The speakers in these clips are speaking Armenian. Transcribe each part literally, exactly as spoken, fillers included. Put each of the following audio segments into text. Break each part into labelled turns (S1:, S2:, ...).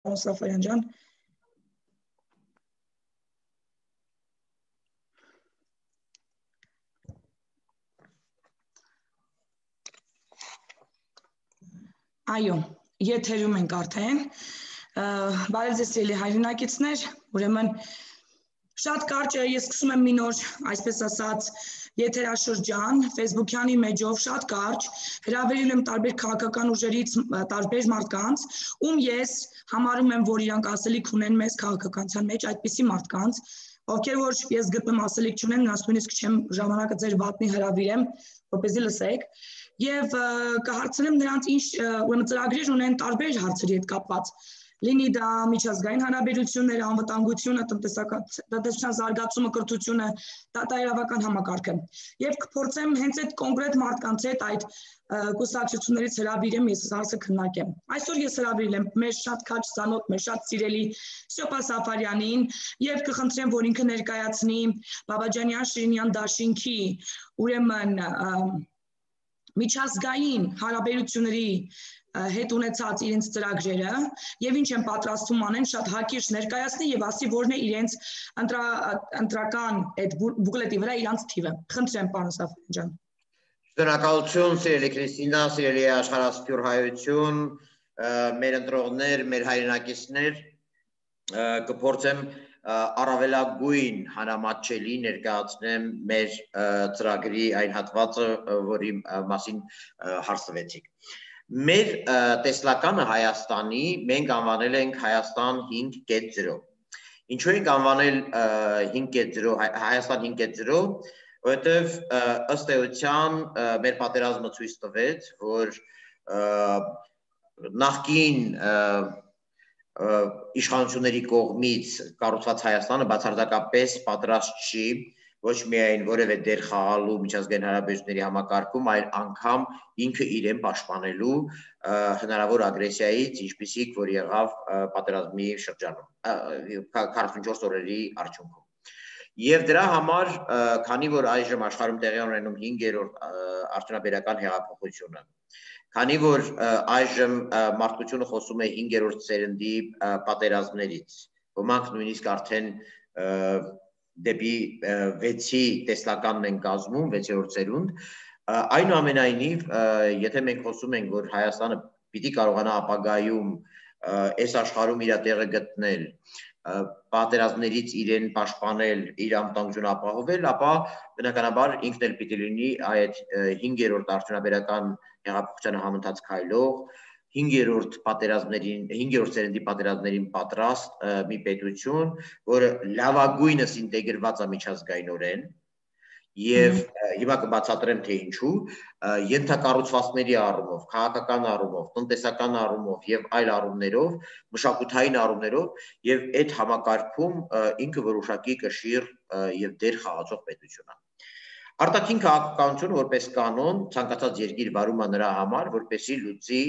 S1: պարոն Սաֆարյան ջան։ Այո, եթերում ենք արդեն, բարև ձեզ սիրելի հայրենակիցներ, ուրեմն շատ կարճ է, ես սկսում եմ մի նոր, այսպես ասած, եթերաշրջան, Facebook-յանի մեջով շատ կարճ, հրավիրել եմ տարբեր քաղաքական ուժերից տարբեր մարդկանց, ում ես համարում եմ, որ իրանք ասելիք ունեն մեծ քաղաքականության մեջ, այդպիսի մարդկանց, ովքեր որ ես գտնում ասելիք չունեն, նրանց նույնիսկ չեմ ժամանակը ձեր վատնի հրավիրեմ, որպեսզի լսեք, եւ կհարցնեմ նրանց ինչ ուրեմն ծրագրեր ունեն տարբեր հարցերի հետ կապված, լինի դա միջազգային հարաբերությունները, անվտանգությունը, տնտեսական զարգացումը, կրթությունը, դատաիրավական համակարգը։ Եվ կփորձեմ հենց այդ կոնկրետ մարդկանց հետ այդ կուսակցություններից հրավիրեմ, ես հարցը քննարկեմ։ Այսօր ես հրավիրել եմ մեր շատ քաջ ծանոթ, մեր շատ սիրելի Սյոպա Սաֆարյանին եւ կխնդրեմ, որ ինքը ներկայացնի Բաբաջանյան-Շիրինյան դաշինքի, ուրեմն միջազգային հարաբերությունների հետ ունեցած իրենց ծրագրերը եւ ինչ են պատրաստում անեն շատ հակիրճ ներկայացնի եւ ասի որն է իրենց ընտրական այդ բուկլետի վրա իրանց թիվը։ Խնդրեմ, պարոն Սաֆարյան ջան։
S2: Շնորհակալություն, սիրելի Քրիստինա, սիրելի աշխարհասփյուր հայություն, մեր ընտրողներ, մեր հայրենակիցներ, կփորձեմ առավելագույն հանրամատչելի ներկայացնեմ մեր ծրագրի այն հատվածը, որի մասին հարցվեցիք։ Մեր տեսլականը Հայաստանի մենք անվանել ենք Հայաստան հինգ կետ զրո։ Ինչու ենք անվանել հինգ կետ զրո, Հայաստան հինգ կետ զրո, որովհետև ըստ էության մեր պատերազմը ցույց տվեց, որ նախկին իշխանությունների կողմից կառուցված Հայաստանը բացարձակապես պատրաստ չի ոչ միայն որևէ դեր խաղալու միջազգային հարաբերությունների համակարգում, այլ անգամ ինքը իրեն պաշտպանելու հնարավոր ագրեսիայից, ինչպիսիք որ եղավ պատերազմի շրջանում, քառասունչորս օրերի արդյունքում։ Եվ դրա համար, քանի որ այժմ աշխարհում տեղի ունենում հինգերորդ արդյունաբերական հեղափոխությունը, քանի որ այժմ մարդկությունը խոսում է հինգերորդ սերնդի պատերազմներից, ոմանք նույնիսկ արդեն դեպի վեցի տեսլականն են կազմում, վեցերորդ սերունդ, այնուամենայնիվ, եթե մենք խոսում ենք, որ Հայաստանը պիտի կարողանա ապագայում այս աշխարհում իր տեղը գտնել, պատերազմներից իրեն պաշտպանել, իր անվտանգությունը ապահովել, ապա բնականաբար ինքն էլ պիտի լինի այդ հինգերորդ արդյունաբերական հեղափոխության համընթաց քայլող, հինգերորդ պատերազմներին, հինգերորդ սերնդի պատերազմներին պատրաստ մի պետություն, որը լավագույնս ինտեգրված է միջազգայինորեն, եւ հիմա կբացատրեմ թե ինչու, ենթակառուցվածքների առումով, քաղաքական առումով, տնտեսական առումով եւ այլ առումներով, մշակութային առումներով եւ այդ համակարգում ինքը որոշակի կշիռ եւ դեր խաղացող պետություն է։ Արտաքին քաղաքականությունը որպես կանոն ցանկացած երկիր վարում է նրա համար, որպեսզի լուծի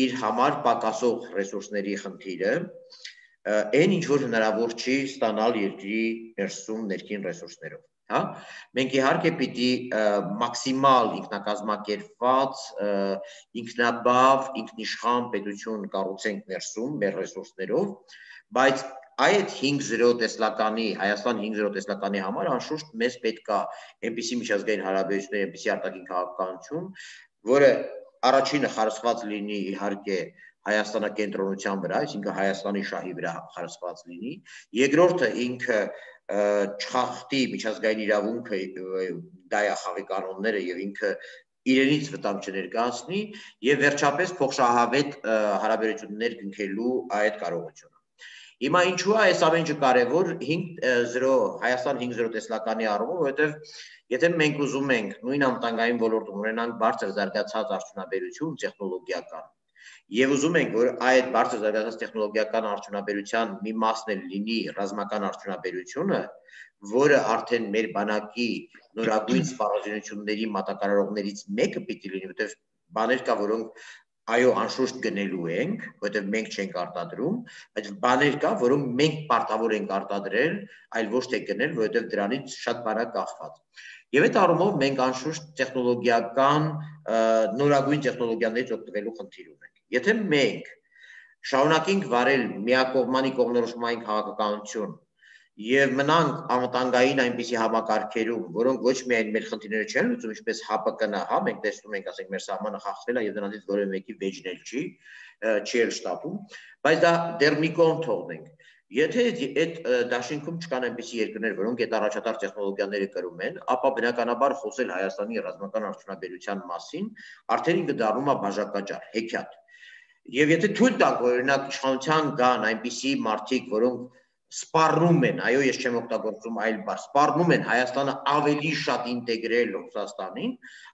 S2: իր համար պակասող ռեսուրսների խնդիրը, այն ինչ որ հնարավոր չի ստանալ երկրի ներսում ներքին ռեսուրսներով։ Հա, մենք իհարկե պիտի մաքսիմալ ինքնակազմակերպված, ինքնաբավ, ինքնիշխան պետություն կառուցենք ներսում մեր ռեսուրսներով, բայց այդ հինգ զրո տեսլականի, Հայաստան հինգ զրո տեսլականի համար անշուշտ մեզ պետք է այնպիսի միջազգային հարաբերություններ, այնպիսի արտաքին քաղաքականություն, որը առաջինը խարսխված լինի իհարկե Հայաստանակենտրոնության վրա, այսինքն Հայաստանի շահի վրա խարսխված լինի, երկրորդը ինքը չխախտի միջազգային իրավունքը, դայախաղի կանոնները եւ ինքը իրենից վտանգ չներկայացնի եւ վերջապես փոխշահավետ հարաբերություններ կնքելու այդ կարողությունը։ Հիմա ինչու է այս ամենը կարևոր հինգ զրո Հայաստան հինգ զրո տեսլականի առումով, որովհետեւ եթե մենք ուզում ենք նույն անվտանգային ոլորտում ունենանք բարձր զարգացած արդյունաբերություն տեխնոլոգիական եւ ուզում ենք, որ այդ բարձր զարգացած տեխնոլոգիական արդյունաբերության մի մասն էլ լինի ռազմական արդյունաբերությունը, որը արդեն մեր բանակի նորագույն սպառազինությունների մատակարարողներից մեկը պիտի լինի, որտեղ բաներ կա, որոնք այո, անշուշտ գնելու ենք, որտեղ մենք չենք արտադրում, բայց բաներ կա, որոնք մենք պարտավոր ենք արտադրել, այլ ոչ թե գնել, որովհետև դրանից շատ բան է կախված։ Եվ այդ առումով մենք անշուշտ տեխնոլոգիական նորագույն տեխնոլոգիաներից օգտվելու խնդիր ունենք։ Եթե մենք շարունակենք վարել միակողմանի կողմնորոշումային քաղաքականություն եւ մնանք անվտանգային այնպիսի համակարգերում, որոնք ոչ միայն մեր խնդիրները չեն լուծում, ինչպես H P K-ն, հա, մենք տեսնում ենք, ասենք, մեր սահմանը խախտվել է եւ դրանից որևէ մեկի վեճն էլ չի, չի էլ շտապում, բայց դա դեռ մի կողմ թողնենք։ Եթե այդ դաշինքում չկան այնպիսի երկրներ, որոնք այդ առաջատար տեխնոլոգիաները կրում են, ապա բնականաբար խոսել Հայաստանի ռազմական արդյունաբերության մասին արդեն ինքը դառնում է բաժակաճառ, հեքիաթ։ Եվ եթե թույլ տանք, որ օրինակ իշխանության կան այնպիսի մարդիկ, որոնք սպառնում են, այո, ես չեմ օգտագործում այլ բառ, սպառնում են Հայաստանը ավելի շատ ինտեգրել Ռուսաստանին,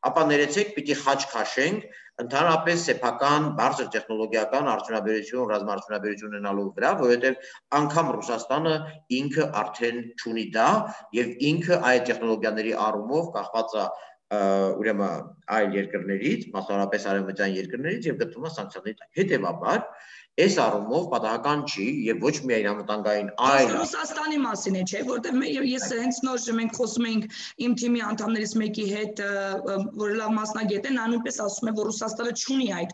S2: ապա ներեցեք պիտի խաչ քաշենք ընդհանրապես սեփական բարձր տեխնոլոգիական արդյունաբերություն, ռազմաարդյունաբերություն ունենալու վրա, որովհետև անգամ Ռուսաստանը ինքը արդեն չունի դա եւ ինքը այդ տեխնոլոգիաների առումով կախված է ուրեմն այլ երկրներից, մասնավորապես արևմտյան երկրներից եւ գտնվում է սանկցիաների տակ։ Հետեւաբար այս առումով պատահական չի եւ ոչ միայն անվտանգային այլ
S1: Ռուսաստանի մասին է, չէ, որտեղ ես հենց նոր մենք խոսում ենք իմ թիմի անդամներից մեկի հետ, որ լավ մասնագետ է, նա նույնպես ասում է, որ Ռուսաստանը չունի այդ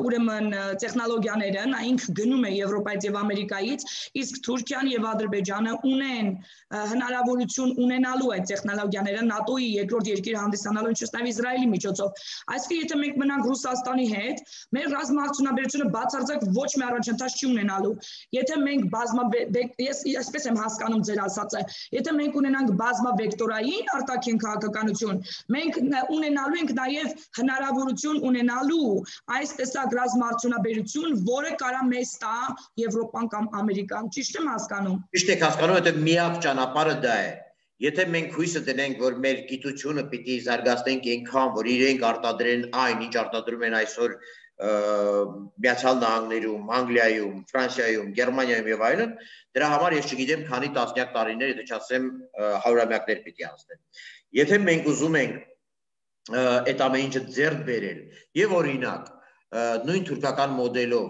S1: ուրեմն տեխնոլոգիաները, նա ինքը գնում է Եվրոպայից եւ Ամերիկայից, իսկ Թուրքիան եւ Ադրբեջանը ունեն հնարավորություն ունենալու այդ տեխնոլոգիաները ՆԱՏՕ-ի երկրորդ երկիր հանդիսանալու, ինչպես նաեւ Իսրայելի միջոցով։ Այսինքն եթե մենք մնանք Ռուսաստանի հետ, մեր ռազմաարդյունաբերությունը բացարձակ ոչ մի առաջընթաց չի ունենալու։ Եթե մենք բազմավեկտոր, ես այսպես եմ հասկանում ձեր ասածը, եթե մենք ունենանք բազմավեկտորային արտաքին քաղաքականություն, մենք ունենալու ենք նաև հնարավորություն ունենալու այս տեսակ ռազմաարդյունաբերություն, որը կարա մեզ տա Եվրոպան կամ Ամերիկան։ Ճիշտ եմ հասկանում։
S2: Ճիշտ եք հասկանում, որովհետև միակ ճանապարհը դա է։ Եթե մենք հույսը դնենք, որ մեր գիտությունը պիտի զարգացնենք այնքան, որ իրենք արտադրեն այն, ինչ արտադրում են այսօր Միացյալ Նահանգներում, Անգլիայում, Ֆրանսիայում, Գերմանիայում եւ այլն, դրա համար ես չգիտեմ քանի տասնյակ տարիներ, եթե չասեմ հարյուրամյակներ պիտի անցնեն։ Եթե մենք ուզում ենք այդ ամեն ինչը ձեռք բերել եւ օրինակ նույն թուրքական մոդելով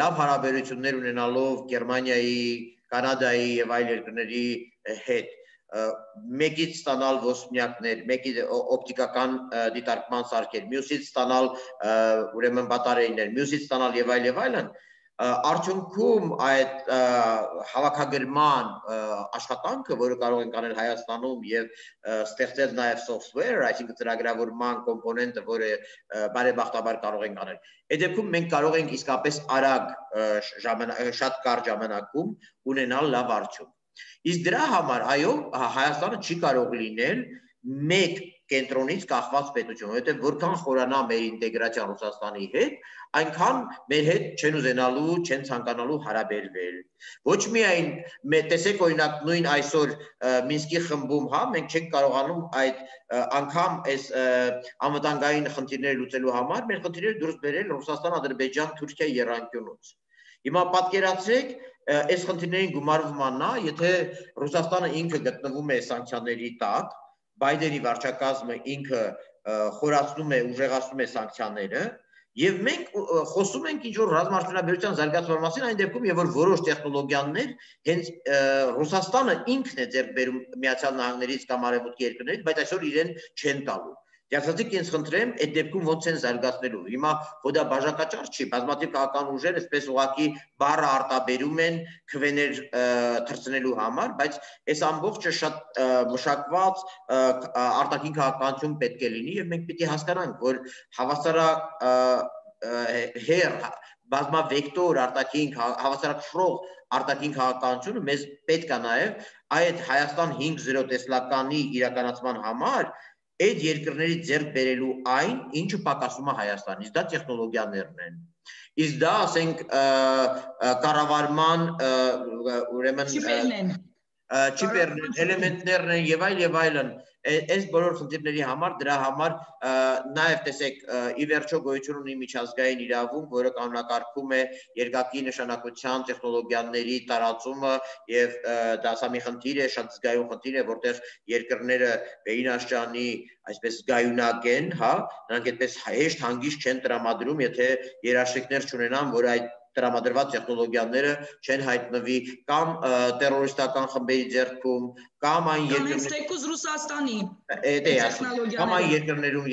S2: լավ հարաբերություններ ունենալով Գերմանիայի, Կանադայի եւ այլ երկրների հետ մեկից ստանալ ոսպնյակներ, մեկից օպտիկական դիտարկման սարքեր, մյուսից ստանալ ուրեմն բատարեյներ, մյուսից ստանալ եւ այլ եւ այլն, արդյունքում այդ հավաքագրման աշխատանքը, որը կարող են անել Հայաստանում եւ ստեղծել նաեւ software, այսինքն ծրագրավորման կոմպոնենտը, որը բարեբախտաբար կարող են անել։ Այդ դեպքում մենք կարող ենք իսկապես արագ շատ կարճ ժամանակում ունենալ լավ արդյունք։ Իսկ դրա համար, այո, Հայաստանը չի կարող լինել մեկ կենտրոնից կախված պետություն, որովհետև որքան խորանա մեր ինտեգրացիան Ռուսաստանի հետ, այնքան մեր հետ չեն ուզենալու, չեն ցանկանալու հարաբերվել։ Ոչ միայն տեսեք օրինակ նույն այսօր Մինսկի խմբում, հա, մենք չենք կարողանում այդ անգամ այս անվտանգային խնդիրները լուծելու համար մեր խնդիրները դուրս բերել Ռուսաստան, Ադրբեջան, Թուրքիա եռանկյունուց։ Հիմա պատկերացրեք այս խնդիրներին գումարվում է նա, եթե Ռուսաստանը ինքը գտնվում է սանկցիաների տակ, Բայդենի վարչակազմը ինքը խորացնում է, ուժեղացնում է սանկցիաները, եւ մենք խոսում ենք ինչ-որ ռազմաարդյունաբերության զարգացման մասին, այն դեպքում, եւ որ որոշ տեխնոլոգիաներ հենց Ռուսաստանը ինքն է ձեռք բերում Միացյալ Նահանգներից կամ արևմուտքի երկրներից, բայց այսօր իրեն չեն տալու։ Դասացիք ինձ խնդրեմ, այդ դեպքում ոնց են զարգացնելու։ Հիմա հո դա բաժակաճառ չի, բազմաթիվ քաղաքական ուժեր այսպես ուղղակի բառը արտաբերում են քվեներ թռցնելու համար, բայց այս ամբողջը շատ մշակված արտաքին քաղաքականություն պետք է լինի եւ մենք պիտի հասկանանք, որ հավասարահեր բազմավեկտոր արտաքին հավասարակշռող արտաքին քաղաքականությունը մեզ պետք է նաեւ այդ Հայաստան հինգ զիրո տեսլականի իրականացման համար այդ երկրների ձեռք բերելու այն, ինչը պակասում է Հայաստանից, դա տեխնոլոգիաներն են։ Իսկ դա, ասենք, կառավարման ուրեմն չիպերն են, էլեմենտներն են եւ այլ եւ այլն։ Այս բոլոր խնդիրների համար դրա համար նաեւ տեսեք ի վերջո գոյություն ունի միջազգային իրավունք, որը կանոնակարգում է երկակի նշանակության տեխնոլոգիաների տարածումը եւ դա սա մի խնդիր է, շատ զգայուն խնդիր է, որտեղ երկրները վերինաշճանի այսպես զգայունակ են, հա, նրանք այդպես հեշտ հանգիստ չեն տրամադրում, եթե երաշխիքներ չունենան, որ այդ տրամադրված տեխնոլոգիաները չեն հայտնվի կամ տերորիստական խմբերի ձեռքում կամ այն
S1: երկրներում Ռուսաստանի
S2: կամ այն երկրներում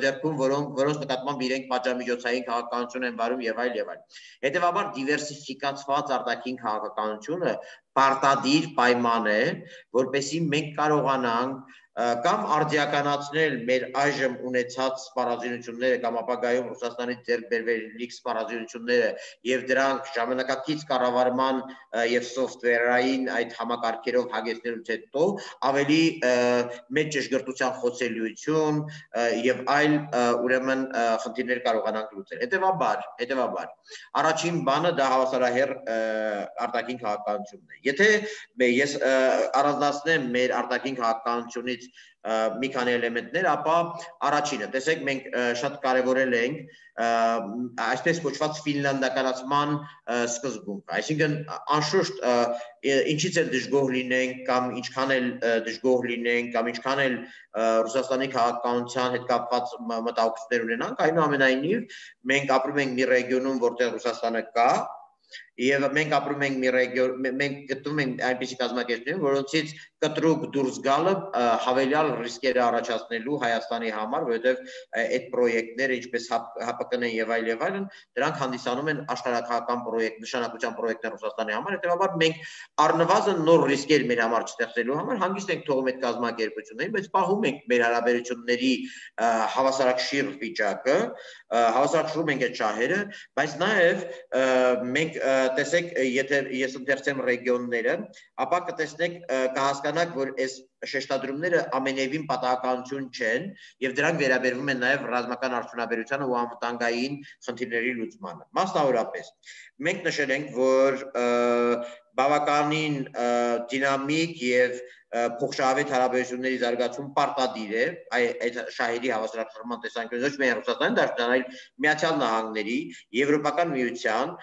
S2: ձեռքում, որոնք որոնց նկատմամբ իրենք պատժամիջոցային քաղաքականություն են վարում եւ այլ եւ այլ։ Հետևաբար դիվերսիֆիկացված արտաքին քաղաքականությունը պարտադիր պայման է, որպեսզի մենք կարողանանք կամ արդիականացնել մեր այժմ ունեցած սպառազինությունները կամ ապագայում Ռուսաստանից ձեռք բերվելիք սպառազինությունները եւ դրանք ժամանակակից կառավարման եւ սոֆտվերային այդ համակարգերով հագեցնելուց հետո ավելի մեծ ճշգրտության խոցելիություն եւ այլ ուրեմն խնդիրներ կարողանանք լուծել։ Հետևաբար, հետևաբար առաջին բանը դա հավասարահեռ արտաքին քաղաքականությունն է։ Եթե ես առանձնացնեմ մեր արտաքին քաղաքականությունից մի քանի էլեմենտներ, ապա առաջինը, տեսեք, մենք շատ կարևորել ենք այսպես կոչված ֆինլանդականացման սկզբունքը, այսինքն անշուշտ ինչից էլ դժգոհ լինենք կամ ինչքան էլ դժգոհ լինենք կամ ինչքան էլ Ռուսաստանի քաղաքականության հետ կապված մտահոգություններ ունենանք, այնուամենայնիվ մենք ապրում ենք մի ռեգիոնում, որտեղ Ռուսաստանը կա, եւ մենք ապրում ենք մի ռեգիոն, մենք գտնվում ենք այնպիսի կազմակերպությունում, որոնցից կտրուկ դուրս գալը հավելյալ ռիսկեր է առաջացնելու Հայաստանի համար, որովհետեւ այդ պրոյեկտները, ինչպես Հ P K-ն եւ այլ եւ այլն, դրանք հանդիսանում են աշխարհակահական պրոյեկտ, նշանակության պրոյեկտներ Ռուսաստանի համար, հետեւաբար մենք առնվազն նոր ռիսկեր մեր համար չստեղծելու համար հանգիստ ենք թողում այդ կազմակերպություններին, բայց պահում ենք մեր հարաբերությունների հավասարակշիռ վիճակը, հավասարակշռում ենք այդ շահերը, բայց նաեւ մենք տեսեք, եթե ես ընթերցեմ ռեգիոնները, ապա կտեսնեք, կհասկանաք, որ այս շեշտադրումները ամենևին պատահականություն չեն եւ դրանք վերաբերվում են նաեւ ռազմական արդյունաբերությանը ու անվտանգային խնդիրների լուծմանը։ Մասնավորապես, մենք նշել ենք, որ բավականին դինամիկ եւ փոխշահավետ հարաբերությունների զարգացում պարտադիր է այդ շահերի հավասարակշռման տեսանկյունից, ոչ միայն Ռուսաստանի Դաշնության, այլ Միացյալ Նահանգների, Եվրոպական միության,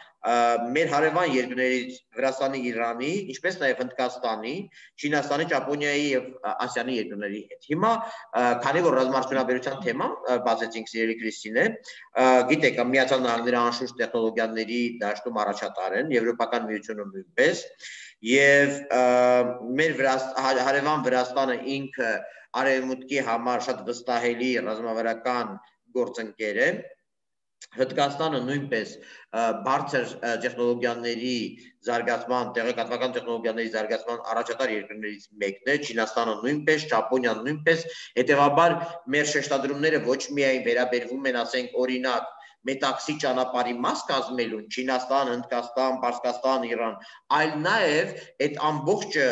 S2: մեր հարևան երկրներից Վրաստանի, Իրանի, ինչպես նաև Հնդկաստանի, Չինաստանի, Ճապոնիայի եւ Ասիանի երկրների հետ։ Հիմա, քանի որ ռազմաարդյունաբերության թեման բացեցինք, սիրելի Քրիստինե, գիտեք, Միացյալ Նահանգները անշուշտ տեխնոլոգիաների դաշտում առաջատար են, Եվրոպական միությունը նույնպես, եւ մեր հարևան Վրաստանը ինքը արևմուտքի համար շատ վստահելի ռազմավարական գործընկեր է, Հնդկաստանը նույնպես բարձր տեխնոլոգիաների զարգացման, տեղեկատվական տեխնոլոգիաների զարգացման առաջատար երկրներից մեկն է, Չինաստանը նույնպես, Ճապոնիան նույնպես, հետևաբար մեր շեշտադրումները ոչ միայն վերաբերվում են, ասենք, օրինակ Մետաքսի ճանապարհի մաս կազմելուն, Չինաստան, Հնդկաստան, Պարսկաստան, Իրան, այլ նաև այդ ամբողջը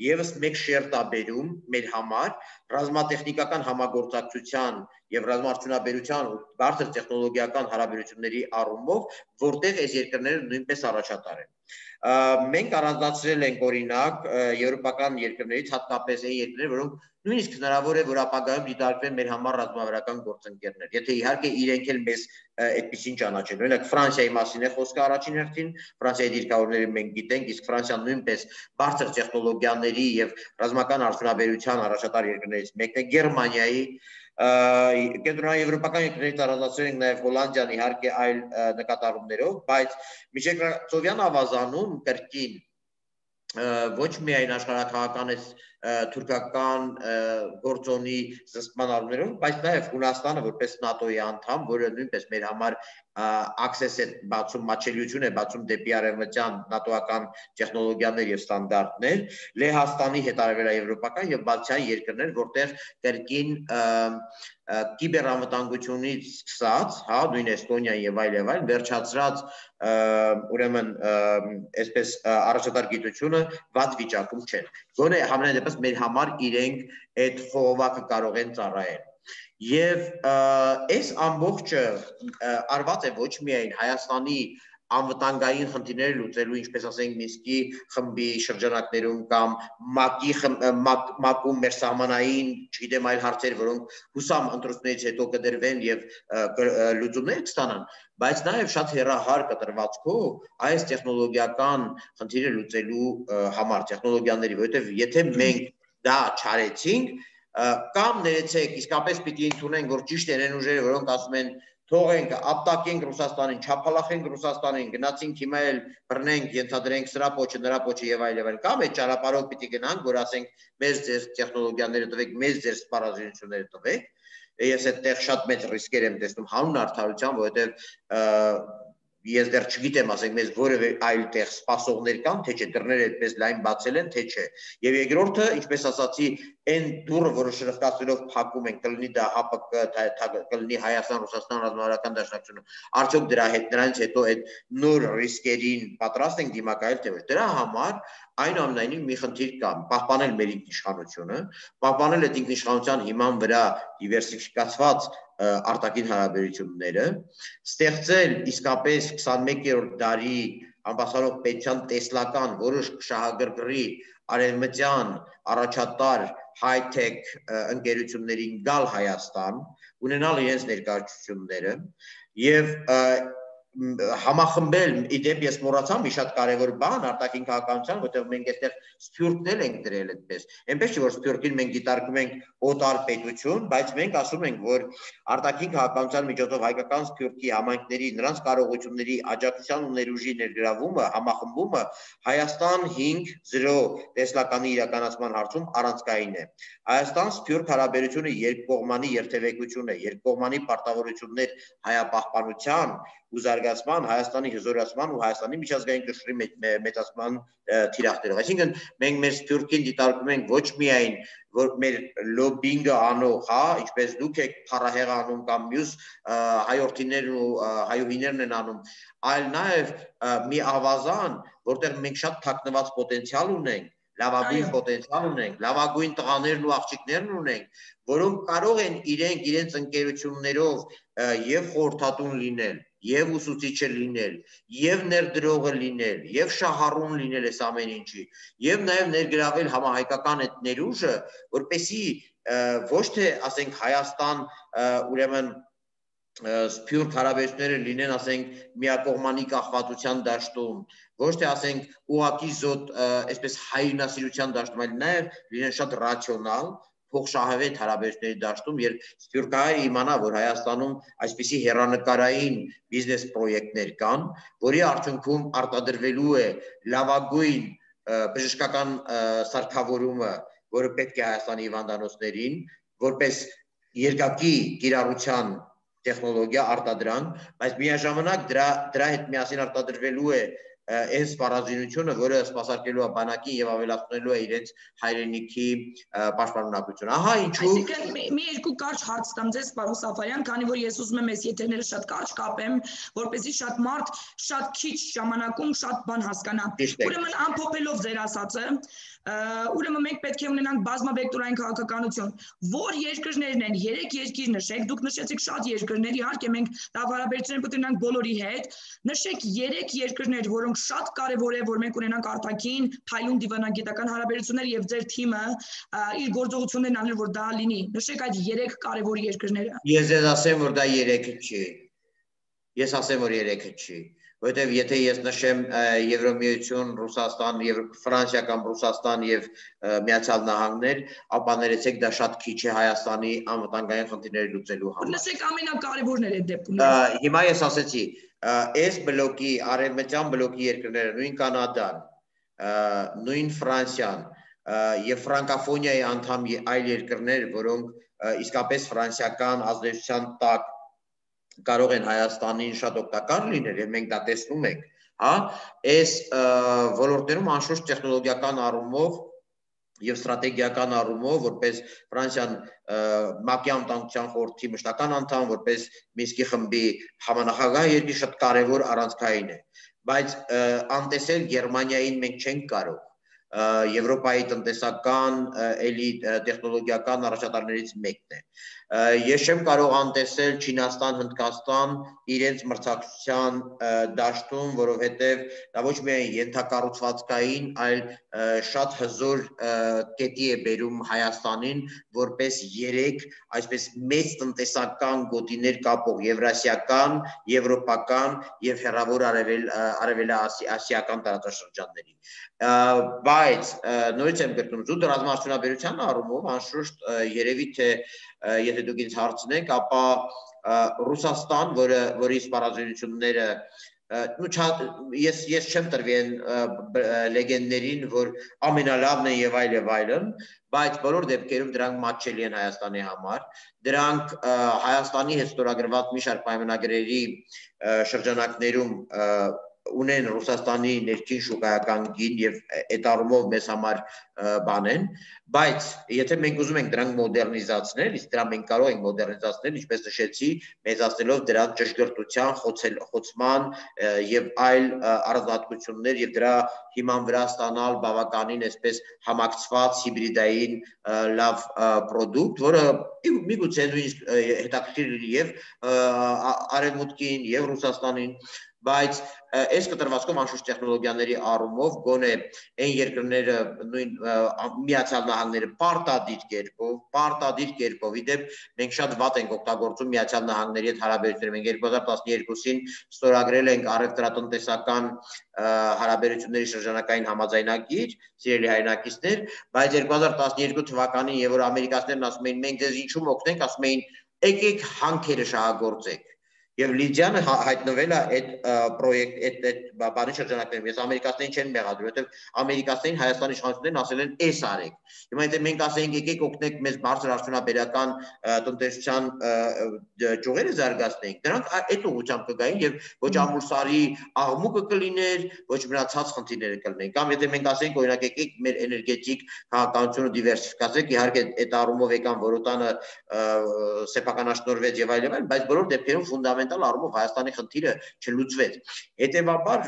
S2: եւս մեկ շերտ է բերում մեր համար ռազմատեխնիկական համագործակցության եւ ռազմաարդյունաբերության ու բարձր տեխնոլոգիական հարաբերությունների առումով, որտեղ այս երկրները նույնպես առաջատար են։ Մենք առանձնացրել ենք օրինակ եվրոպական երկրներից, հատկապես այն երկրներ, որոնք նույնիսկ հնարավոր է, որ ապագայում դիտարկվեն մեր համար ռազմավարական գործընկերներ, եթե իհարկե իրենք էլ մեզ այդպեսին ճանաչեն։ Օրինակ Ֆրանսիայի մասին է խոսքը առաջին հերթին, Ֆրանսիայի դիրքավորները մենք գիտենք, իսկ Ֆրանսիան նույնպես բարձր տեխնոլոգիաների եւ ռազմական արդյունաբերության առաջատար երկրներից մեկն է, Գերմանիայի, կենտրոնաեվրոպական երկրներից առանձնացրել ենք նաև Հոլանդիան, իհարկե այլ նկատառումներով, բայց միջեկրածովյան ավազանում կրկին ոչ միայն աշխարհակահական թուրքական գործոնի զսպման առումներով, բայց նաև Հունաստանը որպես ՆԱՏՕ-ի անդամ, որը նույնպես մեր համար access է բացում, մատչելիություն է բացում դեպի արևմտյան նատոական տեխնոլոգիաներ եւ ստանդարտներ, Լեհաստանի հետ արևելաեվրոպական եւ բալթյան երկրներ, որտեղ կրկին կիբերանվտանգությունից սկսած, հա, նույն Էստոնիան եւ այլ եւ այլ, վերջացրած ուրեմն այսպես առաջատար գիտությունը վատ վիճակում չեն։ Գոնե համենայն դեպս մեր համար իրենք այդ խողովակը կարող են ծառայել։ Եվ այս ամբողջը արված է ոչ միայն Հայաստանի անվտանգային խնդիրները լուծելու, ինչպես ասենք Մինսկի խմբի շրջանակներում կամ ՄԱԿ-ի ՄԱԿ-ում մեր սահմանային, չգիտեմ, այլ հարցեր, որոնք հուսամ ընտրություններից հետո կդրվեն եւ լուծումներ կստանան, բայց նաեւ շատ հեռահար կտրվածքով այս տեխնոլոգիական խնդիրը լուծելու համար, տեխնոլոգիաների, որովհետեւ եթե մենք դա չարեցինք, կամ ներեցեք, իսկապես պիտի ընդունենք, որ ճիշտ են այն ուժերը, որոնք ասում են թողենք, ապտակենք Ռուսաստանին, չափալախենք Ռուսաստանին, գնացինք հիմա էլ բռնենք, ենթադրենք սրա պոչը, նրա պոչը եւ այլ եւ այլ, կամ այդ ճանապարհով պիտի գնանք, որ ասենք մեզ ձեր տեխնոլոգիաները տվեք, մեզ ձեր սպառազինությունները տվեք, ես այդտեղ շատ մեծ ռիսկեր եմ տեսնում հանուն արդարության, որովհետեւ ես դեռ չգիտեմ, ասենք մեզ որևէ այլ տեղ սպասողներ կան, թե չէ դռները այդպես լայն բացել են, թե չէ։ Եվ երկրորդը, ինչպես ասացի, այն դուռը, որը շրխկացնելով փակում են, կլինի դա ՀԱՊԿ, կլինի Հայաստան, Ռուսաստան ռազմավարական դաշնակցությունը, արդյոք դրա հետ նրանց հետո այդ նոր ռիսկերին պատրաստ ենք դիմակայել, թե ոչ։ Դրա համար այնուամենայնիվ մի խնդիր կա, պահպանել մեր ինքնիշխանությունը, պահպանել այդ ինքնիշխանության հիման վրա դիվերսիֆիկացված արտաքին հարաբերությունները, ստեղծել իսկապես քսանմեկերորդ դարի ամբաստանող պետության տեսլական որոշ շահագրգռի արևմտյան առաջատար high-tech ընկերություններին գալ Հայաստան, ունենալ իրենց ներկայացությունները եւ համախմբել, իդեպ ես մոռացա մի շատ կարևոր բան արտաքին քաղաքականության, որտեղ մենք այստեղ սփյուռքներ ենք դրել այդպես։ Այնպես չէ որ սփյուռքին մենք դիտարկում ենք օտար պետություն, բայց մենք ասում ենք, որ արտաքին քաղաքականության միջոցով հայկական սփյուռքի համայնքների նրանց կարողությունների աջակցության ու ներուժի ներգրավումը, համախմբումը Հայաստան հինգ զրո տեսլականի իրականացման հարցում առանցքային է։ Հայաստան սփյուռք հարաբերությունը երկկողմանի երթևեկություն է, երկկողմանի պարտավորություններ հայապահպանության ու զարգացման, Հայաստանի հզորացման ու Հայաստանի միջազգային կշռի մեծացման թիրախներով։ Այսինքն մենք մեր սփյուռքին դիտարկում ենք ոչ միայն որ մեր լոբինգը անող, հա, ինչպես դուք եք փառահեղ անում կամ մյուս հայորդիներն ու հայուհիներն են անում, այլ նաև մի ավազան, որտեղ մենք շատ թաքնված պոտենցիալ ունենք, լավագույն պոտենցիալ ունենք, լավագույն տղաներն ու աղջիկներն ունենք, որոնք կարող են իրենք իրենց ընկերություններով եւ խորհրդատուն լինել, եւ ուսուցիչը լինել, եւ ներդրողը լինել, եւ շահառուն լինել այս ամեն ինչի, եւ նաեւ ներգրավել համահայկական այդ ներուժը, որպեսզի ոչ թե ասենք Հայաստան ուրեմն սփյուռք հարաբերությունները լինեն, ասենք միակողմանի կախվածության դաշտում, ոչ թե ասենք ուղղակի զոտ այսպես հայրենասիրության դաշտում, այլ նաեւ լինեն շատ ռացիոնալ փոխշահավետ հարաբերությունների դաշտում, երբ սփյուռքահայերը իմանա, որ Հայաստանում այսպիսի հեռանկարային բիզնես պրոյեկտներ կան, որի արդյունքում արտադրվելու է լավագույն բժշկական սարքավորումը, որը պետք է Հայաստանի հիվանդանոցներին, որպես երկակի կիրառության տեխնոլոգիա արտադրանք, բայց միաժամանակ դրա դրա հետ միասին արտադրվելու է այն սպառազինությունը, որը սպասարկելու է բանակին եւ ավելացնելու է իրենց հայրենիքի պաշտպանունակությունը։ Ահա ինչու։
S1: Այսինքն մի երկու կարճ հարց տամ ձեզ, պարոն Սաֆարյան, քանի որ ես ուզում եմ այս եթերները շատ կարճ կապեմ, որպեսզի շատ մարդ շատ քիչ ժամանակում շատ բան հասկանա։ Ուրեմն ամփոփելով ձեր ասածը, ուրեմն մենք պետք է ունենանք բազմավեկտորային քաղաքականություն։ Որ երկրներն են, երեք երկիր նշեք, դուք նշեցիք շատ երկրներ, իհարկե մենք հարաբերություններ պետք է ունենանք բոլորի հետ։ Նշեք երեք երկրներ, որոնք շատ կարևոր է, որ մենք ունենանք արտաքին փայլուն դիվանագիտական հարաբերություններ եւ ձեր թիմը իր գործողություններն անել, որ դա լինի։ Նշեք այդ երեք կարևոր երկրները։
S2: Ես ես ասեմ, որ դա երեքը չի։ Ես ասեմ, որ երեքը չի։ Որտեւ եթե ես նշեմ Եվրոմիություն, Ռուսաստան եւ Ֆրանսիա կամ Ռուսաստան եւ Միացյալ Նահանգներ, ապա ներեցեք դա շատ քիչ է Հայաստանի անվտանգային խնդիրները լուծելու համար։
S1: Լսեք ամենակարևորները այդ դեպքում։
S2: Հիմա ես ասեցի, այս բլոկի արևմտյան բլոկի երկրները, նույն Կանադան, նույն Ֆրանսիան եւ ֆրանկաֆոնիայի անդամ այլ երկրներ, որոնք իսկապես ֆրանսիական ազդեցության տակ կարող են Հայաստանին շատ օգտակար լինել եւ մենք դա տեսնում ենք, հա, այս ոլորտներում անշուշտ տեխնոլոգիական առումով եւ ստրատեգիական առումով, որպես Ֆրանսիան ՄԱԿ-ի անվտանգության խորհրդի մշտական անդամ, որպես Մինսկի խմբի համանախագահ երկիր շատ կարեւոր առանցքային է, բայց անտեսել Գերմանիային մենք չենք կարող, Եվրոպայի տնտեսական էլի տեխնոլոգիական առաջատարներից մեկն է։ Ես չեմ կարող անտեսել Չինաստան, Հնդկաստան իրենց մրցակցության դաշտում, որովհետև դա ոչ միայն ենթակառուցվածքային, այլ շատ հզոր կետի է բերում Հայաստանին, որպես երեք այսպես մեծ տնտեսական գոտիներ կապող եվրասիական, եվրոպական եւ հեռավոր արևելասիական տարածաշրջանների։ բայց նորից եմ կրկնում, զուտ ռազմաարդյունաբերության առումով անշուշտ երևի թե եթե դուք ինձ հարցնեք, ապա Ռուսաստան, որը որի սպառազինությունները ես ես չեմ տրվի այն լեգենդներին, որ ամենալավն է եւ այլ եւ այլն, բայց բոլոր դեպքերում դրանք մատչելի են Հայաստանի համար։ Դրանք Հայաստանի հետ ստորագրված մի շարք պայմանագրերի շրջանակներում ունեն Ռուսաստանի ներքին շուկայական գին եւ այդ առումով մեզ համար բան են, բայց եթե մենք ուզում ենք դրանք մոդեռնիզացնել, իսկ դրա մենք կարող ենք մոդեռնիզացնել, ինչպես նշեցի, մեծացնելով դրանց ճշգրտության, խոցման եւ այլ առանձնահատկություններ եւ դրա հիման վրա ստանալ բավականին այսպես համակցված հիբրիդային լավ պրոդուկտ, որը միգուցե նույնիսկ հետաքրքիր լինի եւ Արևմուտքին եւ Ռուսաստանին, բայց այս կտրվածքով անշուշտ տեխնոլոգիաների առումով գոնե այն երկրները նույն Միացյալ Նահանգները պարտադիր կերպով, պարտադիր կերպով, իդեպ մենք շատ վատ ենք օգտագործում Միացյալ Նահանգների հետ հարաբերությունները, մենք երկու հազար տասներկուսին ստորագրել ենք առևտրատնտեսական հարաբերությունների շրջանակային համաձայնագիր, սիրելի հայրենակիցներ, բայց երկու հազար տասներկու թվականին, եւ որ ամերիկացիներն ասում էին մենք ձեզ ինչու օգնենք, ասում էին եկեք հանքերը շահագործեք։ Եվ Լիդիանը հայտնվել է այդ պրոյեկտ, այդ բանի շրջանակներում, ես ամերիկացիներին չեն մեղադրում, որովհետև ամերիկացիներին Հայաստանի իշխանություններն ասել են էս արեք։ Հիմա եթե մենք ասենք եկեք օգնեք մեզ բարձր արդյունաբերական տնտեսության ճյուղերը զարգացնենք, դրանք այդ ուղղությամբ կգային եւ ոչ ամուրսարի աղմուկը կլիներ, ոչ մնացած խնդիրները կլինեն։ Կամ եթե մենք ասենք օրինակ եկեք մեր էներգետիկ քաղաքականությունը դիվերսիֆիկացեք, իհարկե այդ առումով եկան որոտանը սեփականաշնորհվեց եւ այլ եւ այլ, բայց բոլոր դեպքերում ֆունդամենտալ առումով Հայաստանի խնդիրը չլուծվեց։ Հետևաբար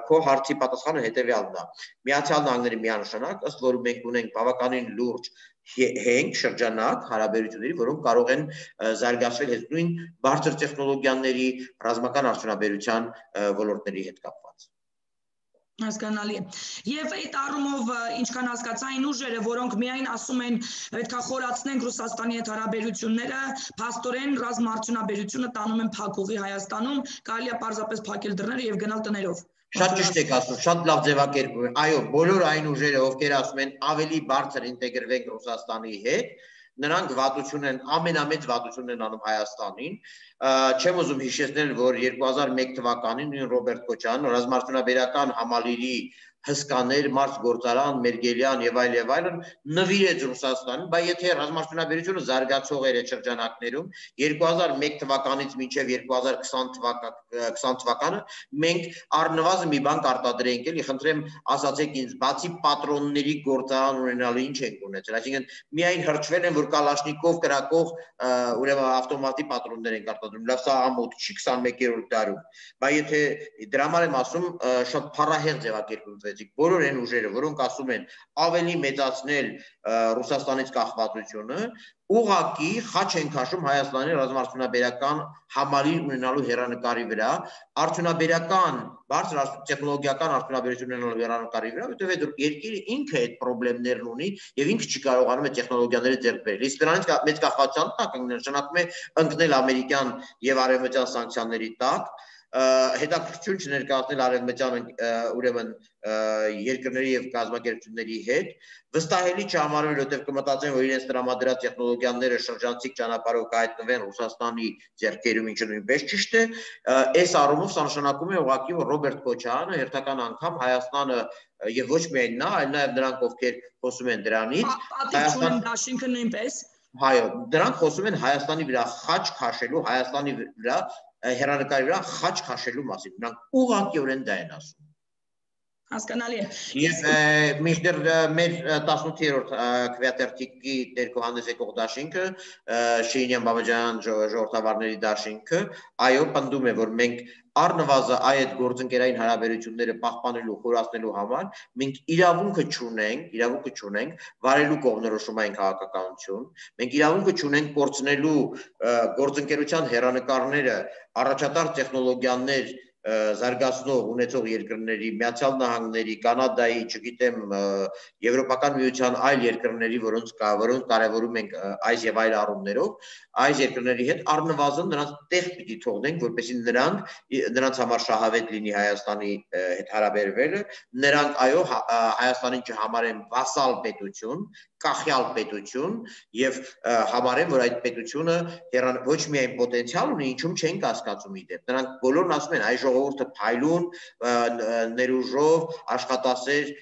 S2: քո հարցի պատասխանը հետևյալն է։ Միացյալ Նահանգների միանշանակ, ըստ որում մենք ունենք բավականին լուրջ հենք շրջանակ հարաբերությունների, որոնք կարող են զարգացվել հետ նույն բարձր տեխնոլոգիաների, ռազմական արդյունաբերության ոլորտների հետ կապված։
S1: Հասկանալի է։ Եվ այդ առումով ինչքան հասկացա այն ուժերը, որոնք միայն ասում են պետք է խորացնենք Ռուսաստանի հետ հարաբերությունները, փաստորեն ռազմաարդյունաբերությունը տանում են փակուղի Հայաստանում, կարելի է պարզապես փակել դռները եւ գնալ տներով։
S2: Շատ ճիշտ եք ասում, շատ լավ ձևակերպում եք։ Այո, բոլոր այն ուժերը, ովքեր ասում են ավելի բարձր ինտեգրվենք Ռուսաստանի հետ, նրանք վատություն են, ամենամեծ վատությունն են անում Հայաստանին։ Չեմ ուզում հիշեցնել, որ երկու հազար մեկ թվականին նույն Ռոբերտ Քոչարյանը ռազմաարդյունաբերական համալիրի հսկաներ, մարդ գործարան, Մերգելյան եւ այլ եւ այլն նվիրեց Ռուսաստանին, բայց եթե ռազմաարդյունաբերությունը զարգացող էր այդ շրջանակներում երկու հազար մեկ թվականից մինչեւ երկու հազար քսան թվականը մենք առնվազն մի բան կարտադրենք, էլի խնդրեմ ասացեք ինձ, բացի պատրոնների գործարան ունենալու ինչ ենք ունեցել, այսինքն միայն հրճվել են, որ Կալաշնիկով կրակող ուրեմն ավտոմատի պատրոններ են արտադրում, լավ սա ամոթ չի քսանմեկերորդ դարում, բայց եթե դրա համար եմ ասում շատ փառահեղ ձևակերպում բոլոր այն ուժերը, որոնք ասում են ավելի մեծացնել Ռուսաստանից կախվածությունը, ուղղակի խաչ են քաշում Հայաստանի ռազմաարդյունաբերական համալիր ունենալու հեռանկարի վրա, արդյունաբերական, բարձր տեխնոլոգիական արդյունաբերություն ունենալու հեռանկարի վրա, որովհետև երկիրը ինքը այդ խնդիրներն ունի եւ ինքը չի կարողանում այդ տեխնոլոգիաները ձեռք բերել։ Իսկ դրանից մեծ կախվածության տակ նշանակում է ընկնել ամերիկյան եւ արևմտյան սանկցիաների տակ, հետաքրքրություն չներկայացնել արևմտյան ուրեմն երկրների եւ կազմակերպությունների հետ, վստահելի չհամարվել, որովհետեւ կմտածեն, որ իրենց տրամադրած տեխնոլոգիաները շրջանցիկ ճանապարհով կհայտնվեն Ռուսաստանի ձեռքերում, ինչը նույնպես ճիշտ է, այս առումով սա նշանակում է ուղղակի, որ Ռոբերտ Քոչարյանը հերթական անգամ Հայաստանը եւ ոչ միայն նա, այլ նաեւ նրանք, ովքեր խոսում են դրանից,
S1: Հայաստան դաշինքը նույնպես։
S2: Այո, դրանք խոսում են Հայաստանի վրա խաչ քաշելու, Հայաստանի վրա հեռանկարի վրա խաչ քաշելու մասին, նրանք ուղղակիորեն դա են ասում։
S1: Հասկանալի է։
S2: Եվ մինչդեռ մեր տասնութերորդ քվեաթերթիկի ներքո հանդես եկող դաշինքը, Շեյնյան Բաբաջանյան ժողովրդավարների դաշինքը, այո, պնդում է, որ մենք առնվազն այդ գործընկերային հարաբերությունները պահպանելու, խորացնելու համար մենք իրավունքը չունենք, իրավունքը չունենք վարելու կողմնորոշումային քաղաքականություն, մենք իրավունքը չունենք կորցնելու գործընկերության հեռանկարները, առաջատար տեխնոլոգիաներ զարգացնող ունեցող երկրների, Միացյալ Նահանգների, Կանադայի, չգիտեմ, Եվրոպական միության այլ երկրների, որոնց որոնց կարևորում ենք այս եւ այլ առումներով, այս երկրների հետ առնվազն նրանց տեղ պիտի թողնենք, որպեսզի նրանք նրանց համար շահավետ լինի Հայաստանի հետ հարաբերվելը, նրանք այո Հայաստանին չհամարեն վասալ պետություն, կախյալ պետություն եւ համարեն, որ այդ պետությունը ոչ միայն պոտենցիալ ունի, ինչում չեն կասկածում իդեպ։ Նրանք բոլորն ասում են, այ ժողովուրդը փայլուն, ներուժով, աշխատասեր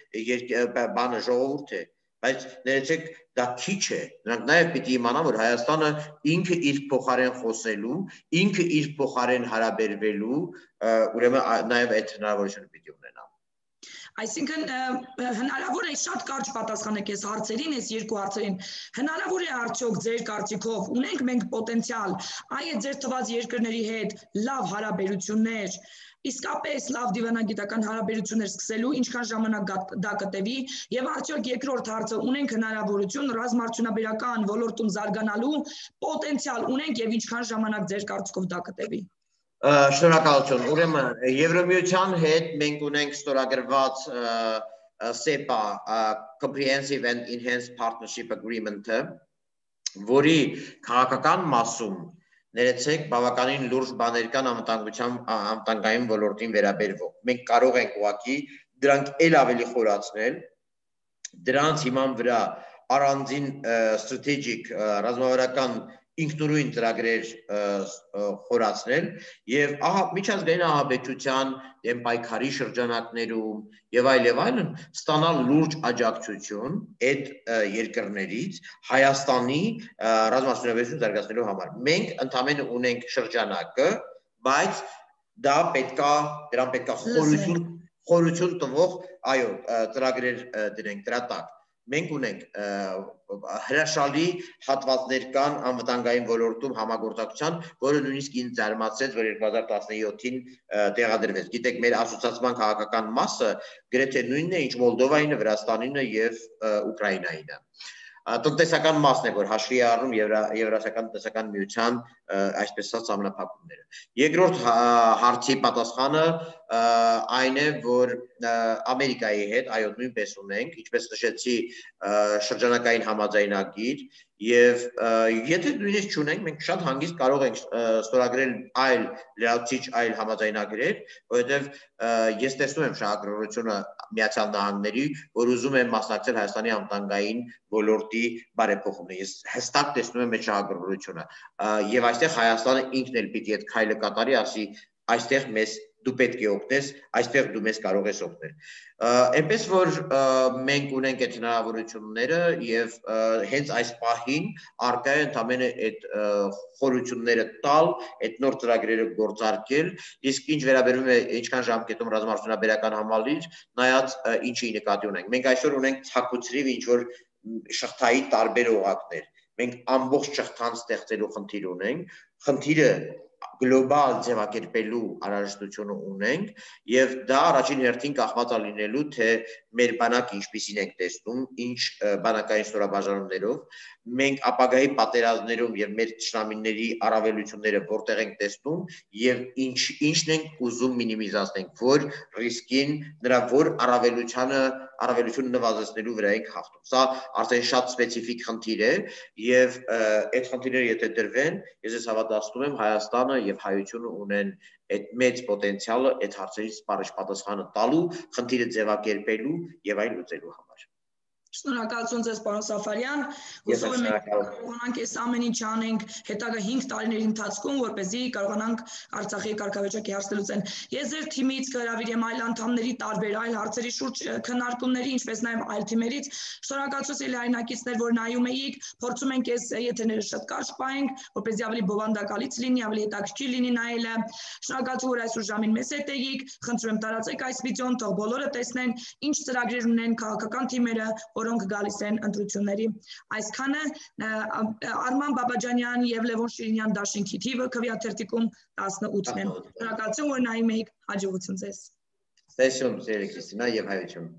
S2: բանը ժողովուրդ է, բայց ներեցեք դա քիչ է։ Նրանք նաեւ պիտի իմանան, որ Հայաստանը ինքը իր փոխարեն խոսելու, ինքը իր փոխարեն հարաբերվելու, ուրեմն նաեւ այդ հնարավորությունը պիտի ունենա։
S1: Այսինքն հնարավոր է շատ կարճ պատասխանեք այս հարցերին, այս երկու հարցերին։ Հնարավոր է արդյոք ձեր կարծիքով ունենք մենք պոտենցիալ այդ ձեր թված երկրների հետ լավ հարաբերություններ, իսկապես լավ դիվանագիտական հարաբերություններ սկսելու, ինչքան ժամանակ դա կտևի, եւ արդյոք երկրորդ հարցը ունենք հնարավորություն ռազմաարդյունաբերական ոլորտում զարգանալու պոտենցիալ ունենք եւ ինչքան ժամանակ ձեր կարծիքով դա կտևի։
S2: Շնորհակալություն։ Ուրեմն Եվրամիության հետ մենք ունենք ստորագրված սեպա Comprehensive and Enhanced Partnership Agreement-ը, որի քաղաքական մասում ներեցեք բավականին լուրջ բաներ կան անվտանգության անվտանգային ոլորտին վերաբերող։ Մենք կարող ենք ուղղակի դրանք ել ավելի խորացնել, դրանց հիման վրա առանձին strategic ռազմավարական ինքնուրույն ծրագրեր խորացնել եւ ահա միջազգային ահաբեկչության դեմ պայքարի շրջանակներում եւ այլ եւ այլն ստանալ լուրջ աջակցություն այդ երկրներից Հայաստանի ռազմաարդյունաբերություն զարգացնելու համար։ Մենք ընդամենը ունենք շրջանակը, բայց դա պետքա դրան պետքա խորություն խորություն տվող, այո, ծրագրեր դրենք դրա տակ։ Մենք ունենք հրաշալի հատվածներ կան անվտանգային ոլորտում համագործակցության, որը նույնիսկ ինձ զարմացրեց, որ երկու հազար տասնյոթին տեղադրվեց։ Գիտեք, մեր ասոցիացիան քաղաքական մասը գրեթե նույնն է, ինչ Մոլդովայինը, Վրաստանինը եւ Ուկրաինայինը։ Տնտեսական մասն է, որ հաշվի է առնում Եվրասիական տնտեսական միության այսպես ասած ամենափակումները։ Երկրորդ հարցի պատասխանը այն է, որ Ամերիկայի հետ այո նույնպես ունենք, ինչպես նշեցի, շրջանակային համաձայնագիր եւ եթե նույնիսկ չունենք, մենք շատ հանգիստ կարող ենք ստորագրել այլ լրացուցիչ այլ համաձայնագրեր, որովհետեւ ես տեսնում եմ շահագրգռությունը Միացյալ Նահանգների, որ ուզում է մասնակցել Հայաստանի անվտանգային ոլորտի բարեփոխումներին։ Ես հստակ տեսնում եմ այդ շահագրգռությունը եւ այստեղ Հայաստանը ինքն էլ պիտի այդ քայլը կատարի, ասի այստեղ մեզ դու պետք է օգնես, այստեղ դու մեզ կարող ես օգնել։ Այնպես որ մենք ունենք այդ հնարավորությունները եւ հենց այս պահին արկա է ընդամենը այդ խորությունները տալ, այդ նոր ծրագրերը գործարկել, իսկ ինչ վերաբերում է ինչքան ժամկետում ռազմաարդյունաբերական համալիր, նայած ինչի նկատի ունենք։ Մենք այսօր ունենք ցակուցրիվ ինչ որ շղթայի տարբեր օղակներ։ Մենք ամբողջ շղթան ստեղծելու խնդիր ունենք։ Խնդիրը գլոբալ ձևակերպելու անհրաժեշտությունը ունենք եւ դա առաջին հերթին կախված է լինելու թե մեր բանակը ինչպիսին ենք տեսնում, ինչ բանակային ստորաբաժանումներով, մենք ապագայի պատերազմներում եւ մեր ճշնամիների առավելությունները որտեղ ենք տեսնում եւ ինչ ինչն ենք ուզում մինիմիզացնենք, որ ռիսկին նրա որ առավելությանը առավելությունը նվազեցնելու վրա ենք հաղթում։ Սա արդեն շատ սպეციფიկ խնդիր է եւ այդ խնդիրները եթե դրվեն, ես ես հավատացնում եմ Հայաստանը եւ հայությունը ունեն այդ մեծ պոտենցիալը այդ հարցերից սպառիչ պատասխանը տալու, խնդիրը ձևակերպելու եւ այլ լուծելու համար։
S1: Շնորհակալություն ձեզ, պարոն Սաֆարյան։ Հուսով եմ կարողանանք այս ամեն ինչ անենք հետագա հինգ տարիների ընթացքում, որպեսզի կարողանանք Արցախի կարգավիճակի հարցը լուծել։ Ես ձեր թիմից կհրավիրեմ այլ անդամների տարբեր այլ հարցերի շուրջ քննարկումների, ինչպես նաև այլ թիմերից։ Շնորհակալություն լայնակիցներ, որ նայում էիք, փորձում ենք այս եթերները շատ կարճ պահենք, որպեսզի ավելի բովանդակալից լինի, ավելի հետաքրքիր լինի նայելը։ Շնորհակալություն, որ այսօր ժամին մեզ հետ էիք։ Խնդրում եմ տարածեք այս վիդեոն, թող բոլորը տեսնեն, ինչ ծրագրեր ունեն քաղաքական թիմերը, որոնք գալիս են ընտրությունների։ Այսքանը Արման Բաբաջանյան եւ Լևոն Շիրինյան դաշինքի թիվը քվեաթերթիկում տասնութն են։ Շնորհակալություն, որ նայում եք, հաջողություն ձեզ։
S2: Տեսում, Սերիկ Քրիստինա եւ հայություն։